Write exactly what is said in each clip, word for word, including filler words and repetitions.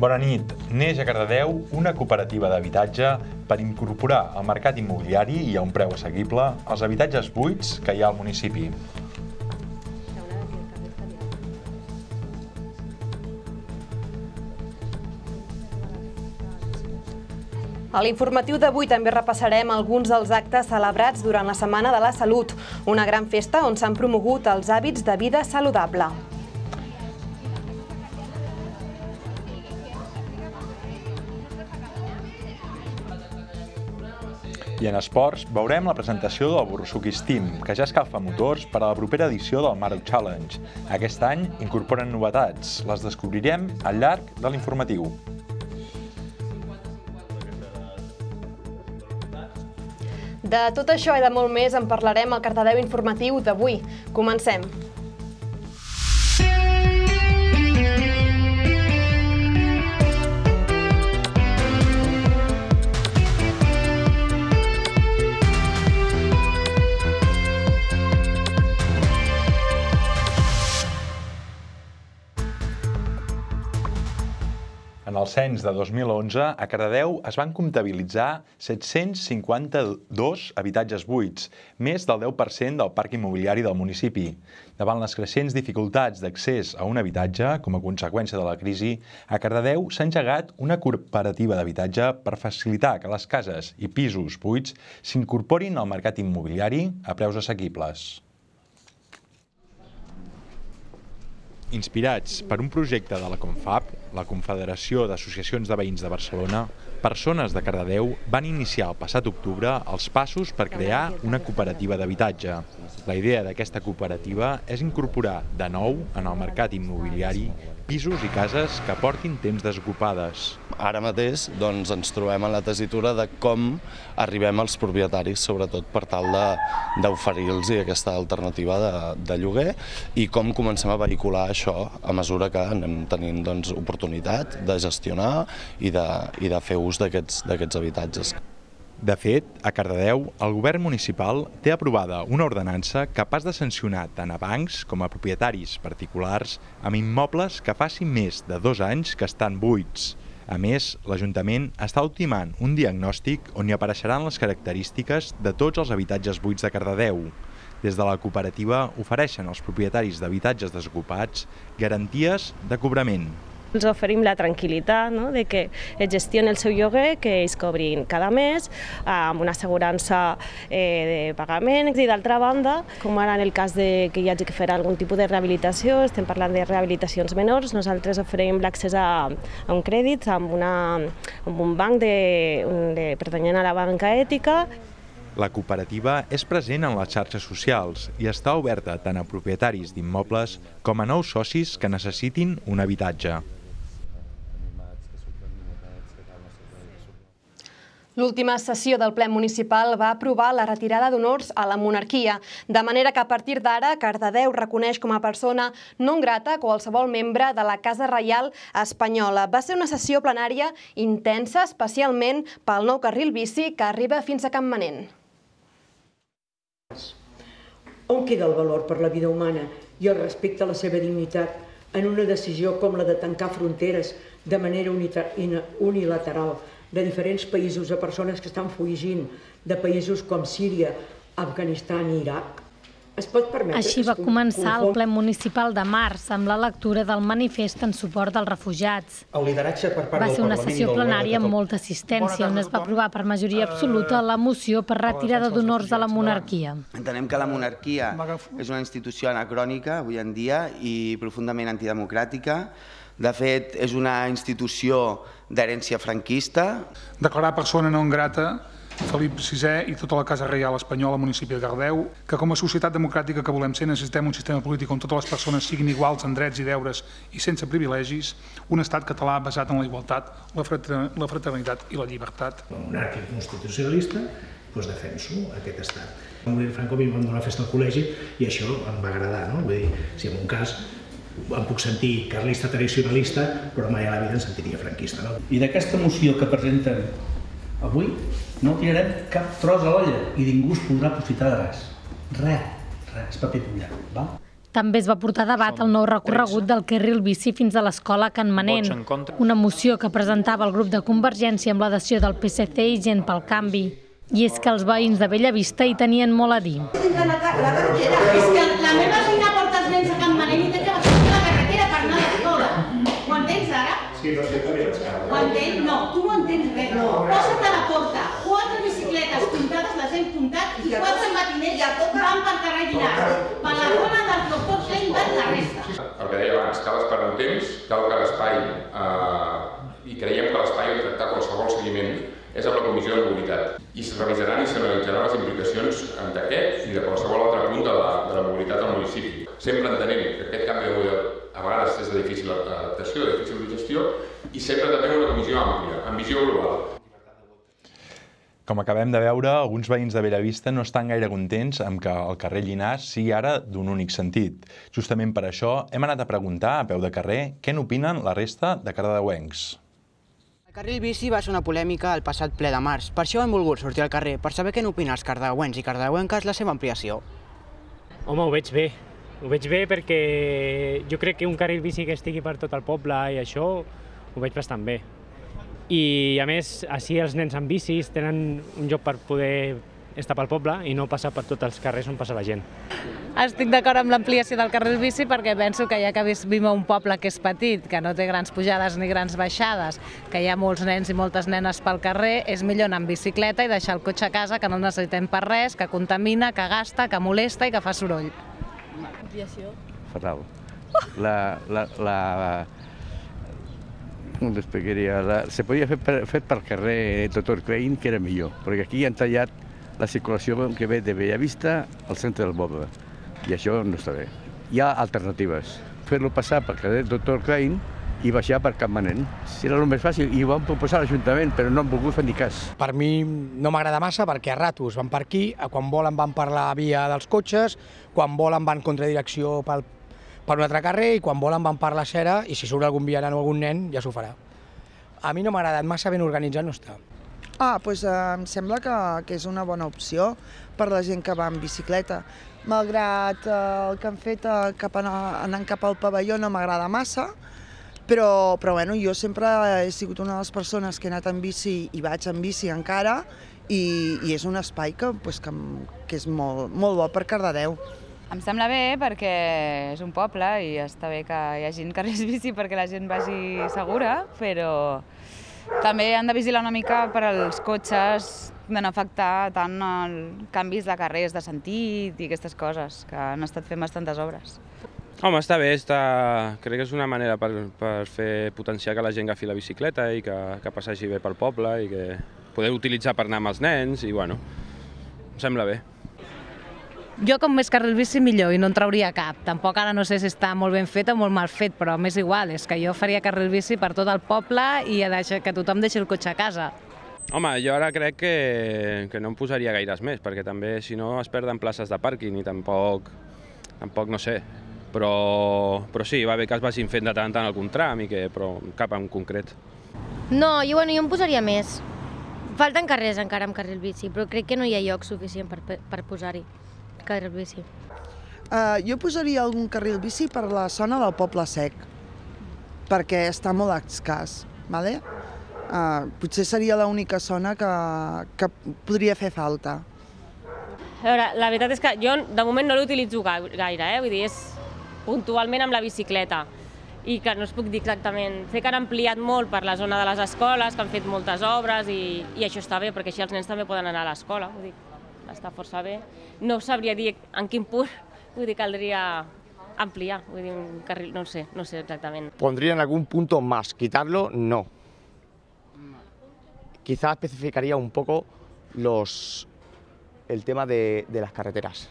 Bona nit. Neix a Cardedeu una cooperativa d'habitatge per incorporar al mercat immobiliari i a un preu assequible els habitatges buits que hi ha al municipi. A l'informatiu d'avui també repassarem alguns dels actes celebrats durant la Setmana de la Salut, una gran festa on s'han promogut els hàbits de vida saludable. I en esports veurem la presentació del Borrusukis Team, que ja escalfa motors per a la propera edició del Maro Challenge. Aquest any incorporen novetats, les descobrirem al llarg de l'informatiu. De tot això i de molt més en parlarem al Cardedeu informatiu d'avui. Comencem. En el cens de dos mil onze, a Cardedeu es van comptabilitzar set-cents cinquanta-dos habitatges buits, més del deu per cent del parc immobiliari del municipi. Davant les creixents dificultats d'accés a un habitatge, com a conseqüència de la crisi, a Cardedeu s'ha engegat una cooperativa d'habitatge per facilitar que les cases i pisos buits s'incorporin al mercat immobiliari a preus assequibles. Inspirats per un projecte de la Confab, la Confederació d'Associacions de Veïns de Barcelona, persones de Cardedeu van iniciar el passat octubre els passos per crear una cooperativa d'habitatge. La idea d'aquesta cooperativa és incorporar de nou en el mercat immobiliari pisos i cases que portin temps desocupades. Ara mateix doncs, ens trobem en la tessitura de com arribem als propietaris, sobretot per tal d'oferir-los aquesta alternativa de, de lloguer i com comencem a vehicular això a mesura que anem tenint doncs, oportunitat de gestionar i de, i de fer ús d'aquests habitatges. De fet, a Cardedeu, el govern municipal té aprovada una ordenança capaç de sancionar tant a bancs com a propietaris particulars amb immobles que facin més de dos anys que estan buits. A més, l'Ajuntament està ultimant un diagnòstic on hi apareixeran les característiques de tots els habitatges buits de Cardedeu. Des de la cooperativa ofereixen als propietaris d'habitatges desocupats garanties de cobrament. Els oferim la tranquil·litat, no? de que es gestioni el seu lloguer, que ells cobrin cada mes, amb una assegurança eh, de pagament. I d'altra banda, com ara en el cas de que hi hagi que fer algun tipus de rehabilitació, estem parlant de rehabilitacions menors, nosaltres oferim l'accés a, a un crèdit amb, una, amb un banc de, de, pertanyent a la banca ètica. La cooperativa és present en les xarxes socials i està oberta tant a propietaris d'immobles com a nous socis que necessitin un habitatge. L'última sessió del ple municipal va aprovar la retirada d'honors a la monarquia, de manera que a partir d'ara Cardedeu reconeix com a persona non grata qualsevol membre de la Casa Reial espanyola. Va ser una sessió plenària intensa, especialment pel nou carril bici que arriba fins a Campmanent. On queda el valor per la vida humana i el respecte a la seva dignitat en una decisió com la de tancar fronteres de manera unilateral de diferents països a persones que estan fugint de països com Síria, Afganistan i Iraq? Es pot permetre... Així va començar el ple municipal de març amb la lectura del manifest en suport dels refugiats. El lideratge per part Va del ser una Parlament i sessió del Govern de plenària amb Catalunya. molta assistència, on es va aprovar per majoria absoluta la moció per retirada d'honors a la monarquia. Entenem que la monarquia és una institució anacrònica avui en dia i profundament antidemocràtica. De fet, és una institució d'herència franquista. Declarar persona non grata Felip sisè i tota la Casa Reial Espanyola al municipi de Cardedeu, que com a societat democràtica que volem ser necessitem un sistema polític on totes les persones siguin iguals en drets i deures i sense privilegis, un estat català basat en la igualtat, la fraternitat i la llibertat. Com a monàrquic constitucionalista, doncs defenso aquest estat. Vam morir Franco, mi vam donar festa al col·legi i això em va agradar, no? Vull dir, si en un cas em puc sentir carlista tradicionalista, però mai a la vida em sentiria franquista. No? I d'aquesta moció que presenten avui no tirarem cap tros a l'olla i ningú es podrà aprofitar de res. Res, res, paper mullat. Val? També es va portar a debat el nou recorregut del carril bici fins a l'escola Can Manent, una moció que presentava el grup de Convergència amb l'adhesió del P S C i Gent pel Canvi. I és que els veïns de Bellavista hi tenien molt a dir. La carretera, és que la meva veïna porta els nens a Can Manent i té que baixar la carretera per anar a l'escola. Ho entens ara? Sí, no sé què és. Ho entens? No, tu no entens res. Posa't a la porta, quatre bicicletes puntades, les hem puntat, i quatre matiners van pel carrer Llinars. Per la zona del doctor Klein van la resta. El que deia abans, cal esperar un temps, cal que l'espai, i creiem que l'espai on tractar qualsevol seguiment és amb la Comissió de Mobilitat. I es revisaran i s'analitzaran les implicacions d'aquest i de qualsevol altre punt de la, de la mobilitat al municipi. Sempre entenent que aquest canvi de model a vegades és de difícil adaptació, de difícil gestió, i sempre també una comissió àmplia, amb visió global. Com acabem de veure, alguns veïns de Bellavista no estan gaire contents amb que el carrer Llinars sigui ara d'un únic sentit. Justament per això hem anat a preguntar a peu de carrer què n'opinen la resta de cardedeuencs. El carril bici va ser una polèmica al passat ple de març. Per això hem volgut sortir al carrer, per saber què n'opinen els cardedeuencs i cardedeuenques la seva ampliació. Home, ho veig bé. Ho veig bé perquè jo crec que un carril bici que estigui per tot el poble i això ho veig bastant bé. I a més, així els nens amb bicis tenen un lloc per poder estar pel poble i no passar per tots els carrers on passa la gent. Estic d'acord amb l'ampliació del carril bici perquè penso que ja que vivim a un poble que és petit, que no té grans pujades ni grans baixades, que hi ha molts nens i moltes nenes pel carrer, és millor anar amb bicicleta i deixar el cotxe a casa, que no el necessitem per res, que contamina, que gasta, que molesta i que fa soroll. Ampliació. Fatal. La... la, la... Com t'explicaria? Se podia fer per, fet pel carrer doctor Klein, que era millor, perquè aquí han tallat la circulació que ve de Bellavista al centre del poble, i això no està bé. Hi ha alternatives. Fer-lo passar pel carrer doctor Klein i baixar per Can Manent. Serà el més fàcil, i ho van proposar a l'Ajuntament, però no han volgut fer ni cas. Per mi no m'agrada massa perquè a ratos van per aquí, quan volen van per la via dels cotxes, quan volen van contradirecció pel per un altre carrer i quan volen van per la Cera i si surt algun vianant o algun nen ja s'ho farà. A mi no m'ha agradat, massa ben organitzat no està. Ah, doncs em sembla que, que és una bona opció per la gent que va en bicicleta. Malgrat el que han fet cap anant cap al pavelló no m'agrada massa, però, però bueno, jo sempre he sigut una de les persones que he anat en bici i vaig en bici encara i, i és un espai que, pues, que, que és molt, molt bo per Cardedeu. Em sembla bé perquè és un poble i està bé que hi hagi carrils bici perquè la gent vagi segura, però també han de vigilar una mica per als cotxes de no afectar tant els canvis de carrers de sentit i aquestes coses, que han estat fent bastantes obres. Home, està bé, està... crec que és una manera per, per fer potenciar que la gent agafi la bicicleta i que, que passegi bé pel poble i que poder utilitzar per anar amb els nens i bueno, em sembla bé. Jo com més carril bici millor i no en trauria cap. Tampoc ara no sé si està molt ben fet o molt mal fet, però m'és igual, és que jo faria carril bici per tot el poble i que tothom deixi el cotxe a casa. Home, jo ara crec que, que no em posaria gaires més, perquè també si no es perden places de pàrquing i tampoc, tampoc no sé. Però, però sí, va bé que es vagin fent de tant en tant algun tram, i que, però cap en concret. No, jo, bueno, jo em posaria més. Falten carrers encara amb carril bici, però crec que no hi ha lloc suficient per, per posar-hi carril bici. Uh, jo posaria algun carril bici per la zona del Poble Sec, perquè està molt escàs. Vale? Uh, potser seria l'única zona que, que podria fer falta. A veure, la veritat és que jo de moment no l'utilitzo gaire, eh? Vull dir, és puntualment amb la bicicleta i que no us puc dir exactament. Sé que han ampliat molt per la zona de les escoles, que han fet moltes obres i, i això està bé, perquè així els nens també poden anar a l'escola. Vull dir, està força bé. No sabria dir en quin punt, vull dir, caldria ampliar, vull dir, un carril, no sé, no sé exactament. Pondría en algún punto más, quitarlo, no. Quizá especificaría un poco los, el tema de, de las carreteras,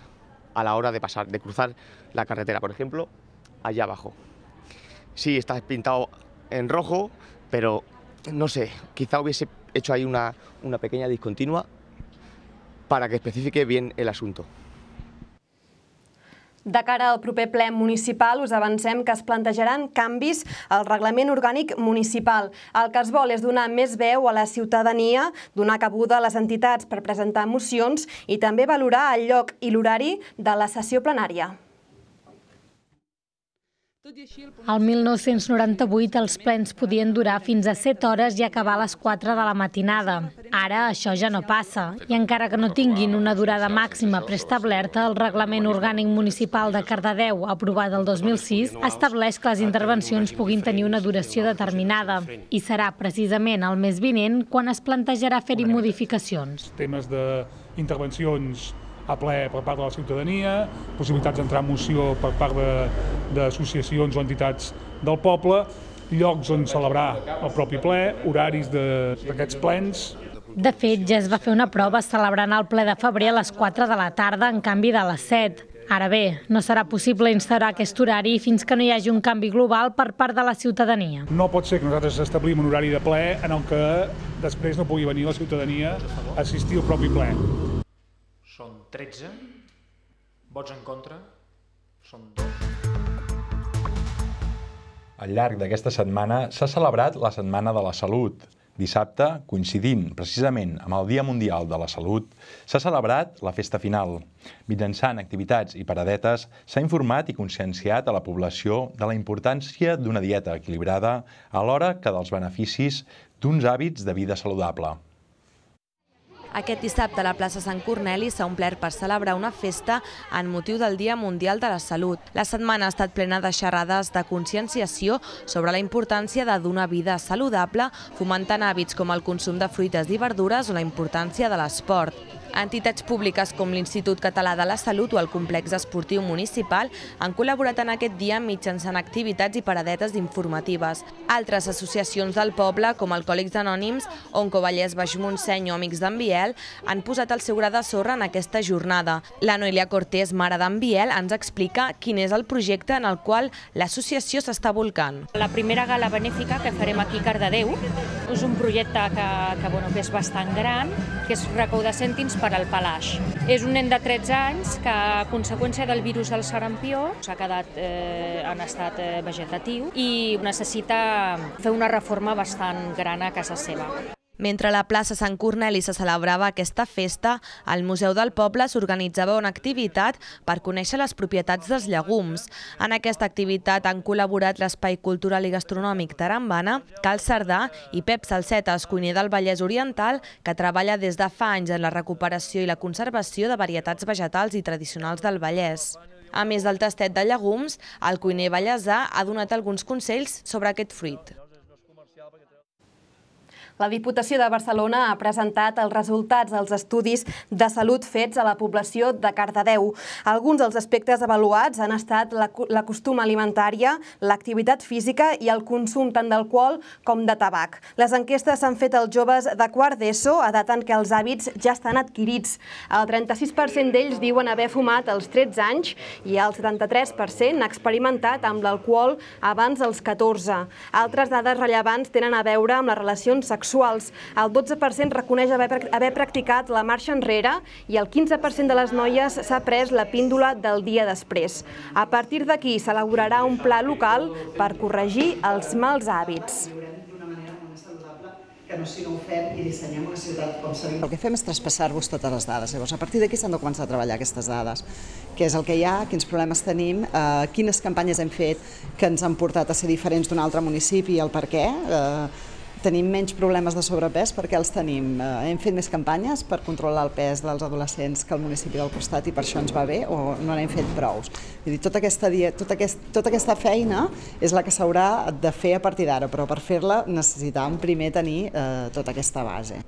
a la hora de pasar, de cruzar la carretera, por ejemplo, allá abajo. Sí, está pintado en rojo, pero no sé, quizá hubiese hecho ahí una, una pequeña discontinua para que especifique bien el asunto. De cara al proper ple municipal, us avancem que es plantejaran canvis al reglament orgànic municipal. El que es vol és donar més veu a la ciutadania, donar cabuda a les entitats per presentar mocions i també valorar el lloc i l'horari de la sessió plenària. Al mil nou-cents noranta-vuit els plens podien durar fins a set hores i acabar a les quatre de la matinada. Ara això ja no passa, i encara que no tinguin una durada màxima preestablerta, el Reglament Orgànic Municipal de Cardedeu, aprovat el dos mil sis, estableix que les intervencions puguin tenir una duració determinada, i serà precisament el mes vinent quan es plantejarà fer-hi modificacions. Temes d'intervencions a ple per part de la ciutadania, possibilitats d'entrar en moció per part d'associacions o entitats del poble, llocs on celebrar el propi ple, horaris d'aquests plens. De fet, ja es va fer una prova celebrant el ple de febrer a les quatre de la tarda en canvi de les set. Ara bé, no serà possible instaurar aquest horari fins que no hi hagi un canvi global per part de la ciutadania. No pot ser que nosaltres establim un horari de ple en el que després no pugui venir la ciutadania a assistir al propi ple. Són tretze, vots en contra, són dos. Al llarg d'aquesta setmana s'ha celebrat la Setmana de la Salut. Dissabte, coincidint precisament amb el Dia Mundial de la Salut, s'ha celebrat la festa final. Mitjançant activitats i paradetes s'ha informat i conscienciat a la població de la importància d'una dieta equilibrada alhora que dels beneficis d'uns hàbits de vida saludable. Aquest dissabte a la plaça Sant Corneli s'ha omplert per celebrar una festa en motiu del Dia Mundial de la Salut. La setmana ha estat plena de xerrades de conscienciació sobre la importància de dur una vida saludable, fomentant hàbits com el consum de fruites i verdures o la importància de l'esport. Entitats públiques com l'Institut Català de la Salut o el Complex Esportiu Municipal han col·laborat en aquest dia mitjançant activitats i paradetes informatives. Altres associacions del poble, com Alcohòlics Anònims, Onco Vallès Baix Montseny o Amics d'en Biel, han posat el seu gra de sorra en aquesta jornada. La Noelia Cortés, mare d'en Biel, ens explica quin és el projecte en el qual l'associació s'està volcant. La primera gala benèfica que farem aquí a Cardedeu és un projecte que, que, bueno, que és bastant gran, que és recaudar cèntims per al Palaix. És un nen de tretze anys que, a conseqüència del virus del sarampió, s'ha quedat eh, en estat eh, vegetatiu i necessita fer una reforma bastant gran a casa seva. Mentre a la plaça Sant Corneli se celebrava aquesta festa, al Museu del Poble s'organitzava una activitat per conèixer les propietats dels llegums. En aquesta activitat han col·laborat l'Espai Cultural i Gastronòmic Tarambana, Cal Cerdà i Pep Salsetes, cuiner del Vallès Oriental, que treballa des de fa anys en la recuperació i la conservació de varietats vegetals i tradicionals del Vallès. A més del tastet de llegums, el cuiner vallesà ha donat alguns consells sobre aquest fruit. La Diputació de Barcelona ha presentat els resultats dels estudis de salut fets a la població de Cardedeu. Alguns dels aspectes avaluats han estat la costuma alimentària, l'activitat física i el consum tant d'alcohol com de tabac. Les enquestes s'han fet als joves de quart d'ESO, edat en què els hàbits ja estan adquirits. El trenta-sis per cent d'ells diuen haver fumat als tretze anys i el setanta-tres per cent ha experimentat amb l'alcohol abans dels catorze. Altres dades rellevants tenen a veure amb les relacions sexuals. El dotze per cent reconeix haver practicat la marxa enrere i el quinze per cent de les noies s'ha pres la píndola del dia després. A partir d'aquí s'elaborarà un pla local per corregir els mals hàbits. Que no si no ho fem i dissenyem una ciutat com s'ha dit. El que fem és traspassar-vos totes les dades. Llavors, a partir d'aquí s'han de començar a treballar aquestes dades. Què és el que hi ha, quins problemes tenim, eh, quines campanyes hem fet que ens han portat a ser diferents d'un altre municipi i el per què. Eh, Tenim menys problemes de sobrepès perquè els tenim. Hem fet més campanyes per controlar el pes dels adolescents que el municipi del costat i per això ens va bé o no n'hem fet prous. Vull dir, tota aquesta, tota aquest, tota aquesta feina és la que s'haurà de fer a partir d'ara, però per fer-la necessitàvem primer tenir eh, tota aquesta base.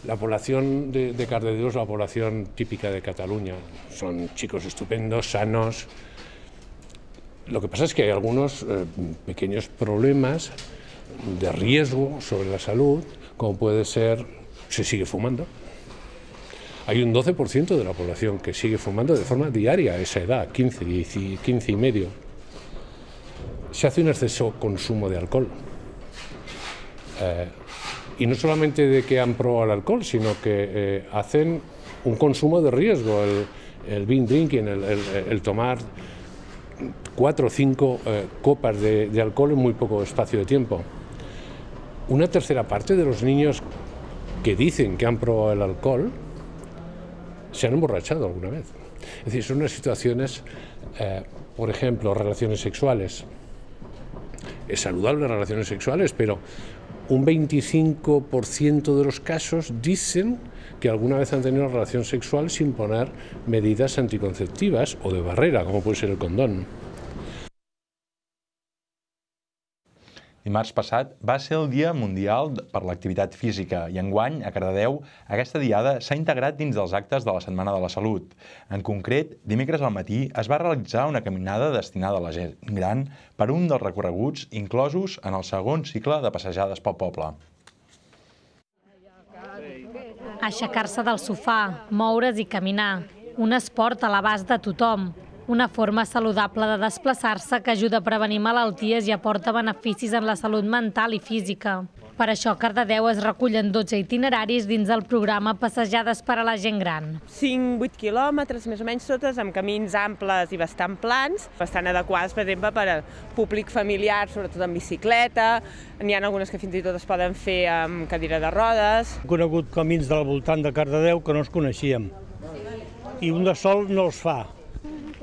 La población de, de Cardedeu es la población típica de Cataluña. Son chicos estupendos, sanos. Lo que pasa es que hay algunos eh, pequeños problemas de riesgo sobre la salud, como puede ser, se sigue fumando. Hay un doce por ciento de la población que sigue fumando de forma diaria a esa edad, quince, quince y medio. Se hace un exceso consumo de alcohol. Eh, y no solamente de que han probado el alcohol, sino que eh, hacen un consumo de riesgo, el, el binge drinking, el, el, el tomar cuatro o cinco eh, copas de, de alcohol en muy poco espacio de tiempo. Una tercera parte de los niños que dicen que han probado el alcohol se han emborrachado alguna vez. Es decir, son unas situaciones, eh, por ejemplo, relaciones sexuales. es saludable las relaciones sexuales, pero un veinticinco por ciento de los casos dicen que alguna vez han tenido una relación sexual sin poner medidas anticonceptivas o de barrera, como puede ser el condón. Dimarts passat va ser el Dia Mundial per l'Activitat Física i enguany, a Cardedeu, aquesta diada s'ha integrat dins dels actes de la Setmana de la Salut. En concret, dimecres al matí es va realitzar una caminada destinada a la gent gran per un dels recorreguts inclosos en el segon cicle de passejades pel poble. Aixecar-se del sofà, moure's i caminar. Un esport a l'abast de tothom. Una forma saludable de desplaçar-se que ajuda a prevenir malalties i aporta beneficis en la salut mental i física. Per això a Cardedeu es recullen dotze itineraris dins del programa Passejades per a la gent gran. cinc vuit quilòmetres, més o menys totes, amb camins amples i bastant plans, bastant adequats, per exemple, per al públic familiar, sobretot en bicicleta. N'hi ha algunes que fins i tot es poden fer amb cadira de rodes. He conegut camins del voltant de Cardedeu que no els coneixíem i un de sol no els fa.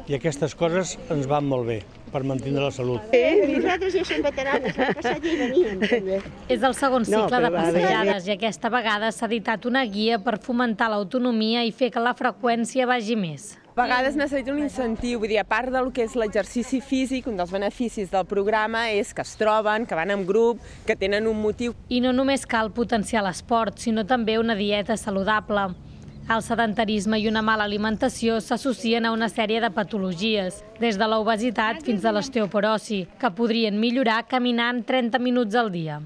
I aquestes coses ens van molt bé per mantenir la salut. Nosaltres ja som veteranes, vam passar allí i veníem també. És el segon cicle de passejades i aquesta vegada s'ha editat una guia per fomentar l'autonomia i fer que la freqüència vagi més. A vegades necessita un incentiu, vull dir, a part del que és l'exercici físic, un dels beneficis del programa és que es troben, que van en grup, que tenen un motiu. I no només cal potenciar l'esport, sinó també una dieta saludable. El sedentarisme i una mala alimentació s'associen a una sèrie de patologies, des de l'obesitat fins a l'osteoporosi, que podrien millorar caminant trenta minuts al dia.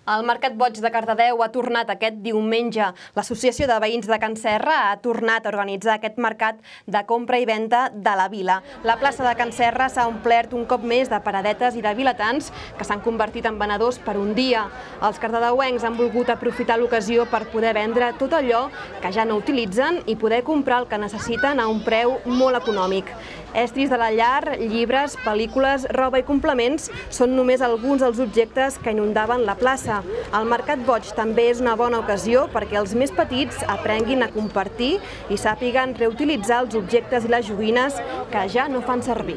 El Mercat Boig de Cardedeu ha tornat aquest diumenge. L'Associació de Veïns de Can Serra ha tornat a organitzar aquest mercat de compra i venda de la vila. La plaça de Can Serra s'ha omplert un cop més de paradetes i de vilatans que s'han convertit en venedors per un dia. Els cardedeuencs han volgut aprofitar l'ocasió per poder vendre tot allò que ja no utilitzen i poder comprar el que necessiten a un preu molt econòmic. Estris de la llar, llibres, pel·lícules, roba i complements són només alguns dels objectes que inundaven la plaça. El Mercat Boig també és una bona ocasió perquè els més petits aprenguin a compartir i sàpiguen reutilitzar els objectes i les joguines que ja no fan servir.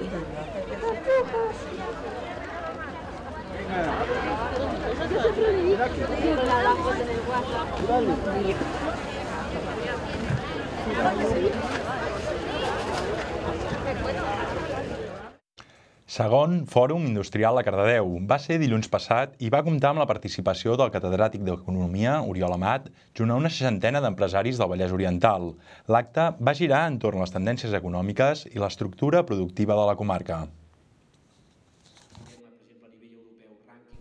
Segon Fòrum Industrial a Cardedeu. Va ser dilluns passat i va comptar amb la participació del catedràtic d'Economia, Oriol Amat, junt a una seixantena d'empresaris del Vallès Oriental. L'acte va girar entorn a les tendències econòmiques i l'estructura productiva de la comarca.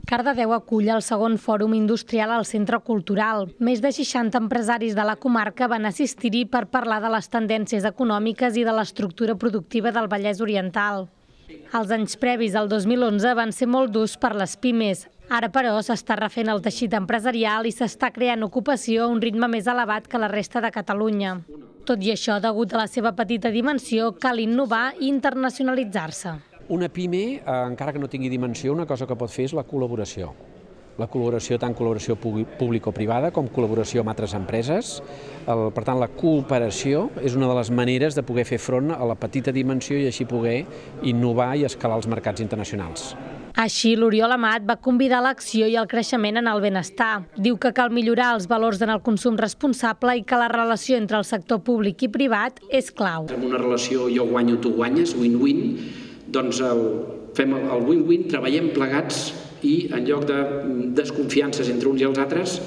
Cardedeu acull el segon Fòrum Industrial al Centre Cultural. Més de seixanta empresaris de la comarca van assistir-hi per parlar de les tendències econòmiques i de l'estructura productiva del Vallès Oriental. Els anys previs al dos mil onze van ser molt durs per les pimes. Ara, però, s'està refent el teixit empresarial i s'està creant ocupació a un ritme més elevat que la resta de Catalunya. Tot i això, degut a la seva petita dimensió, cal innovar i internacionalitzar-se. Una pime, encara que no tingui dimensió, una cosa que pot fer és la col·laboració. La col·laboració, tant col·laboració público-privada com col·laboració amb altres empreses. Per tant, la cooperació és una de les maneres de poder fer front a la petita dimensió i així poder innovar i escalar els mercats internacionals. Així, l'Oriol Amat va convidar l'acció i el creixement en el benestar. Diu que cal millorar els valors en el consum responsable i que la relació entre el sector públic i privat és clau. En una relació jo guanyo, tu guanyes, win-win, doncs fem el win-win, treballem plegats i en lloc de desconfiances entre uns i els altres,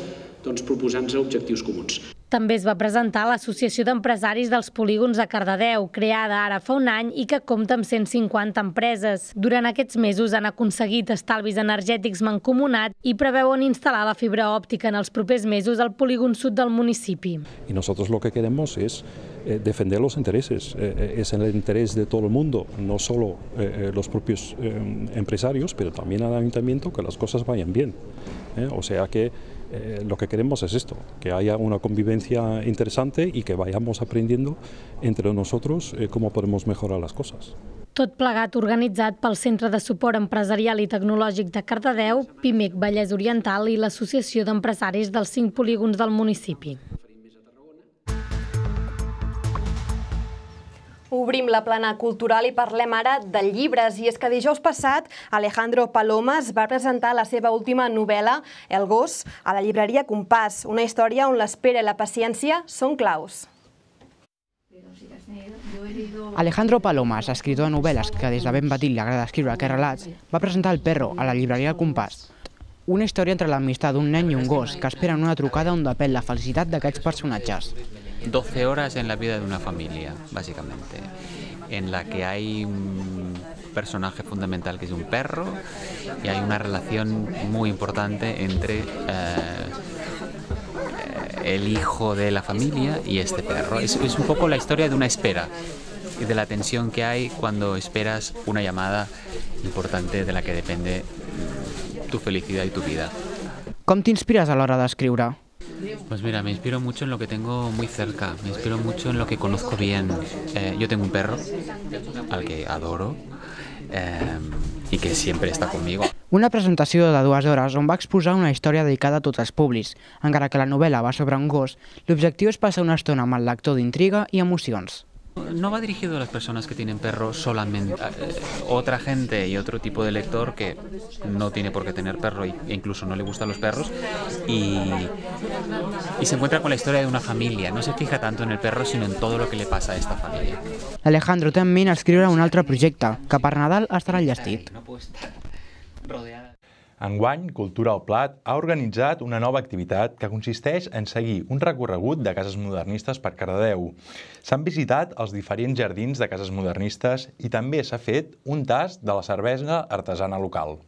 doncs proposant-se objectius comuns. També es va presentar l'Associació d'Empresaris dels Polígons de Cardedeu, creada ara fa un any i que compta amb cent cinquanta empreses. Durant aquests mesos han aconseguit estalvis energètics mancomunats i preveuen instal·lar la fibra òptica en els propers mesos al polígon sud del municipi. Y nosotros lo que queremos es eh, defender los intereses, eh, es el interés de todo el mundo, no solo eh, los propios eh, empresarios, pero también al ayuntamiento, que las cosas vayan bien. ¿eh? O sea que Eh, lo que queremos es esto, que haya una convivencia interesante y que vayamos aprendiendo entre nosotros eh, cómo podemos mejorar las cosas. Tot plegat organitzat pel Centre de Suport Empresarial i Tecnològic de Cardedeu, Pimec Vallès Oriental i l'Associació d'Empresaris dels cinc polígons del municipi. Obrim la plana cultural i parlem ara de llibres. I és que dijous passat Alejandro Palomas va presentar la seva última novel·la, El gos, a la llibreria Compàs, una història on l'espera i la paciència són claus. Alejandro Palomas, escritor de novel·les que des de ben petit li agrada escriure aquests relats, va presentar El perro a la llibreria Compàs. Una història entre l'amistat d'un nen i un gos que esperen una trucada on depèn la felicitat d'aquests personatges. doce horas en la vida de una familia, básicamente, en la que hay un personaje fundamental que es un perro y hay una relación muy importante entre eh, el hijo de la familia y este perro. Es, es un poco la historia de una espera y de la tensión que hay cuando esperas una llamada importante de la que depende tu felicidad y tu vida. Com t'inspires a l'hora d'escriure? Pues mira, me inspiro mucho en lo que tengo muy cerca, me inspiro mucho en lo que conozco bien. Eh, yo tengo un perro, al que adoro, eh, y que siempre está conmigo. Una presentació de dues hores on va exposar una història dedicada a tots els públics. Encara que la novel·la va sobre un gos, l'objectiu és passar una estona amb el lector d'intriga i emocions. No va dirigido a las personas que tienen perro solamente. Otra gente y otro tipo de lector que no tiene por qué tener perro e incluso no le gustan los perros y, y se encuentra con la historia de una familia. No se fija tanto en el perro sino en todo lo que le pasa a esta familia. Alejandro té en ment escriure un altre projecte, que per Nadal estarà enllestit. Enguany, Cultura al Plat ha organitzat una nova activitat que consisteix en seguir un recorregut de cases modernistes per Cardedeu. S'han visitat els diferents jardins de cases modernistes i també s'ha fet un tast de la cervesa artesana local.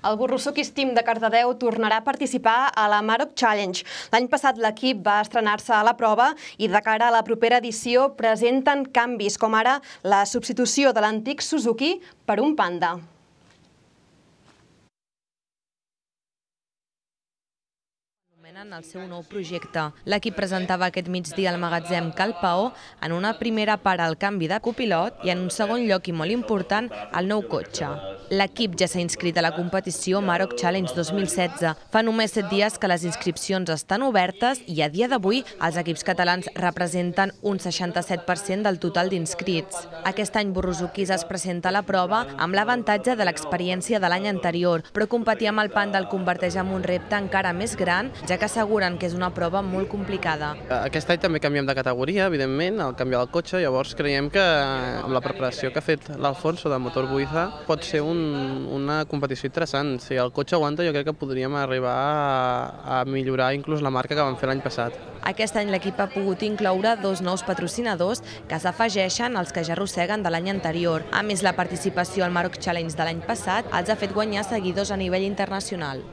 El Borrusukis Team de Cardedeu tornarà a participar a la Maroc Challenge. L'any passat l'equip va estrenar-se a la prova i de cara a la propera edició presenten canvis, com ara la substitució de l'antic Suzuki per un Panda. En el seu nou projecte. L'equip presentava aquest migdia al magatzem Cal Paó en una primera part el canvi de copilot i en un segon lloc i molt important el nou cotxe. L'equip ja s'ha inscrit a la competició Maroc Challenge dos mil setze. Fa només set dies que les inscripcions estan obertes i a dia d'avui els equips catalans representen un seixanta-set per cent del total d'inscrits. Aquest any Borrusukis es presenta a la prova amb l'avantatge de l'experiència de l'any anterior, però competir amb el Panda el converteix en un repte encara més gran, ja que asseguren que és una prova molt complicada. Aquest any també canviem de categoria, evidentment, al canviar el cotxe, llavors creiem que amb la preparació que ha fet l'Alfonso de Motor Buiza pot ser un, una competició interessant. Si el cotxe aguanta, jo crec que podríem arribar a, a millorar inclús la marca que vam fer l'any passat. Aquest any l'equip ha pogut incloure dos nous patrocinadors que s'afegeixen als que ja arrosseguen de l'any anterior. A més, la participació al Maroc Challenge de l'any passat els ha fet guanyar seguidors a nivell internacional.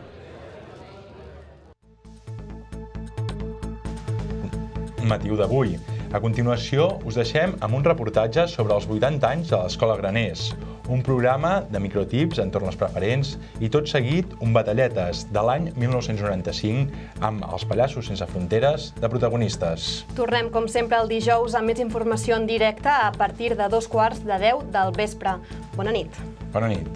Motiu d'avui. A continuació, us deixem amb un reportatge sobre els vuitanta anys de l'Escola Graners, un programa de microtips entorn les preferents i tot seguit un batalletes de l'any mil nou-cents noranta-cinc amb els Pallassos Sense Fronteres de protagonistes. Tornem, com sempre, el dijous amb més informació en directe a partir de dos quarts de deu del vespre. Bona nit. Bona nit.